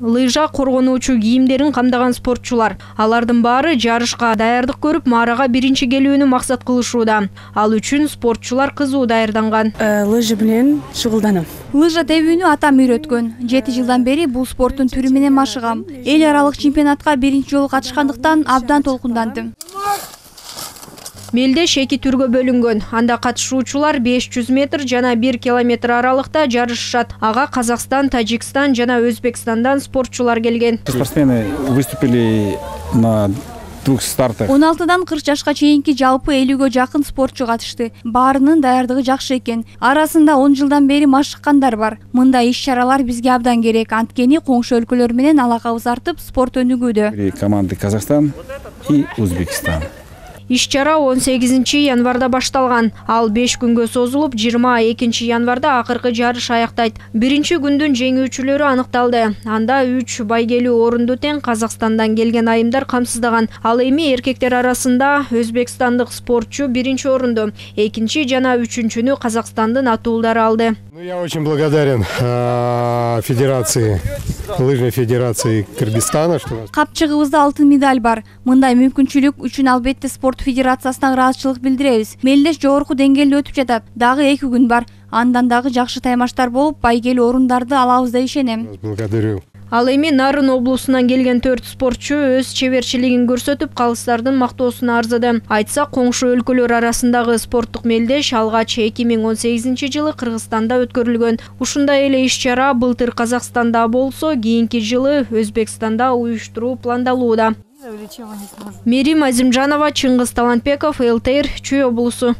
лыжа коргонуучу кийимдерин камдаган спортчулар. Алардын баары жарышка даярдык көрүп, Марага биринчи келүүнү максат кылышууда. Ал үчүн спортчулар кызуу даярданган. Лыжа менен шугулданам. Лыжа тебүүнү атам үйрөткөн. 7 жылдан бери бул спорттун түрү менен машыгам. Эл аралык чемпионатка биринчи жолу катышкандыктан абдан толкундандым. Мелдеш 2 түргө бөлүнгөн. Анда катышуучулар 500 метр жана 1 километр аралыкта жарышышат. Ага Казакстан, Тажикстан жана Өзбекстандан спортчулар келген. Спортсмены выступили на 2 стартах. 16дан 40 жашка чейинки жалпы 50гө жакын спортчу катышты. Баарынын даярдыгы жакшы экен. Арасында 10 жылдан бери машыккандар бар. Мындай иш-чаралар бизге абдан керек. Анткени коңшу өлкөлөр менен алакабыз артып, спорт өнүгүүдө. Команды Казакстан и Өзбекстан. Иш-чара 18 январда башталган. Ал 5 күнгө созулуп, 22 январда акыркы жарыш аяктайт. Биринчи күндүн жеңүүчүлөрү аныкталды. Анда 3 байгелүү орунду тең Казакстандан келген айымдар камсыздаган. Ал эми эркектер арасында өзбекстандык спортчу биринчи орунду, экинчи жана үчүнчүнү Казакстандын атуулдары алды. Я очень благодарен федерации, лыжной федерации Кыргызстана. Капчыгыбызда алтын медаль бар. Мындай мүмкүнчүлүк үчүн албетте спорт федерациясына ыраазычылык билдиребиз. Мелдеш жогорку деңгээлде өтүп жатат. Дагы 2 күн бар. Андан дагы жакшы таймаштар болуп, байгелүү орундарды алабыз деп ишенем. Благодарю. Ал эми Нарын облусунан келген 4 спортчу өз чеберчилигин көрсөтүп, калыстардын мактоосуна арзыды. Айтсак, коңшу өлкөлөр арасындагы спорттук мелдеш алгач 2018 жылы Кыргызстанда өткөрүлгөн. Ушундай эле иш-чара былтыр Казакстанда болсо, кийинки жылы Өзбекстанда уюштуруу пландалууда. Мерим Азимжанова, Чыңгыз Талантбеков, ЛТР, Чүй облусу.